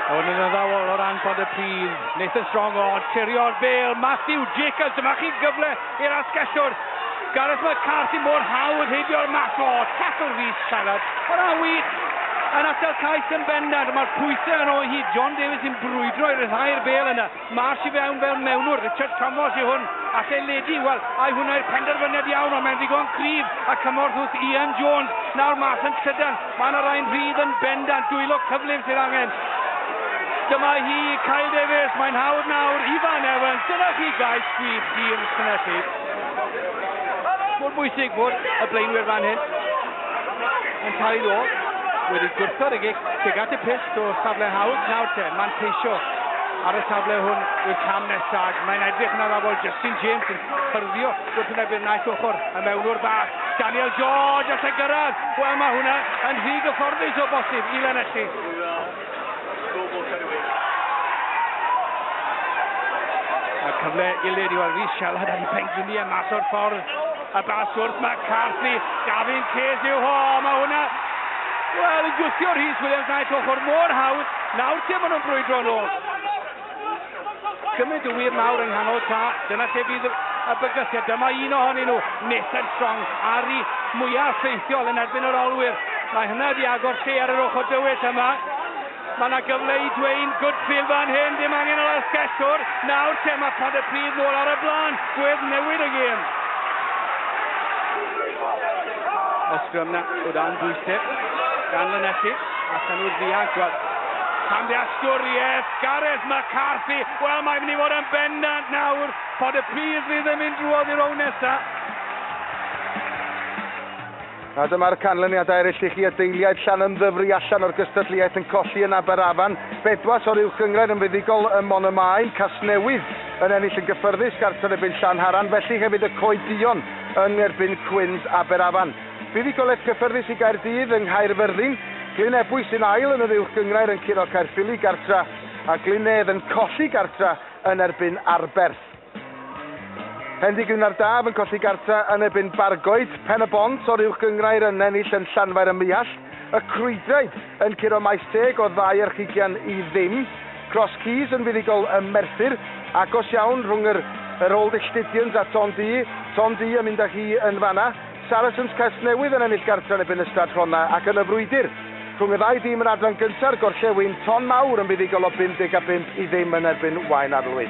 Hwn yn addawol o ran Pontypridd. Nathan Strong o tirio'r bêl. Matthew Jacobs, dyma chi gyfle i'r asgellwr. Gareth McCarthy mor hawdd heibio'r math o tackle Rhys Siarad. Hwna wych yn atal cais yn bendant. Mae'r pwysau yn o hyd. John Davies yn brwydro i ryddhau'r bêl yna. Marsh i fewn fel mewnwr. Richard Thomas yw hwn. Alle ledu. Wel, ai hwnna i'r penderfyniad iawn, ond mae'n ddigon cryf a cymorth wrth Ian Jones. Nawr mas yn llydan. Mae yna rai'n rhydd yn bendant. Dwylo cyflym sydd angen. Dyma hi, Kyle Davies. Mae'n hawdd nawr. Ifan Evans. Dyna chi gais gwych i'r Llanelli. Mor bwysig bod y blaenwyr fan hyn yn cael ei ddod. Wedi gwrthod y gic tuag at y pyst o safle hawdd. Nawr te, manteisio ar y safle hwn yw'r cam nesaf. Mae'n edrych yn addawol. Justin James yn hyrddio gwrthwynebu'r naill ochr. Y mewnwr bach, Daniel George all e gyrraedd. Wel, mae hwnna yn rhy gyfforddus o bosib i Lanelli. A cyfle gilydd i weld Rhys Sialad ar ei pengliniau mas o'r ffordd. A bas wrth McCarthy, Gavin Case yw ho, mae hwnna, wel, yn gwthio Rhys Williams naill ochr mor hawdd. Nawr te maen nhw'n brwydro nôl. Cymaint o wir mawr yng nghanol ta, dyna lle fydd y bygythiad. Dyma un ohonyn nhw, Nathan Strong, Ari mwyaf ffeithiol yn erbyn yr olwyr. Mae hynna wedi agor lle ar yr ochr dywyll yma. Mae yna gyfle i Dwayne Goodfield fan hyn, dim angen yr asgellwr. Nawr te mae Pontypridd nôl ar y blaen, gwedd newid y gêm. Y sgrym na o dan bwysau gan Lanelli, allan nhw'r ddianc, wel, camddealltwriaeth, Gareth McCarthy, wel mae'n mynd i fod yn bendant nawr, Pontypridd fydd yn mynd drwodd i'r rown nesaf. A dyma'r canlyniadau eraill i chi, y deiliaid Llanymddyfri allan o'r gystadleuaeth yn colli yn Aberafan, Bedwas o'r Uwch Gynghrair yn fuddugol ym Môn-y-maen, Casnewydd yn ennill yn gyffyrddus gartref yn erbyn Llanharan, felly hefyd y Coed Duon yn erbyn Cwins Aberafan. Buddugoliaeth gyffyrddus i Gaerdydd yng Nghaerfyrddin, Glyn Ebwy sy'n ail yn yr Uwch Gynghrair yn curo Caerffili gartra, a Glyn Nedd yn colli gartra yn erbyn Arberth. Hendy-Gwyn ar Daf yn colli gartra yn erbyn Bargoed, Pen-y-bont o'r Uwch Gynghrair yn ennill yn Llanfair ym Muallt, y Crwydraid yn curo Maes Teg o ddau archugian i ddim, Cross Keys yn fuddugol ym Merthyr, agos iawn rhwng yr yr Old Illtydians a Ton Du, Ton Du yn mynd â hi yn fanna, Saracens Casnewydd yn ennill gartra yn erbyn Ystrad Rhondda ac yn y frwydr rhwng y ddau dîm yn adran gynta'r Gorllewin, Ton Mawr yn fuddugol o 55 i ddim yn erbyn Waun Arlwy.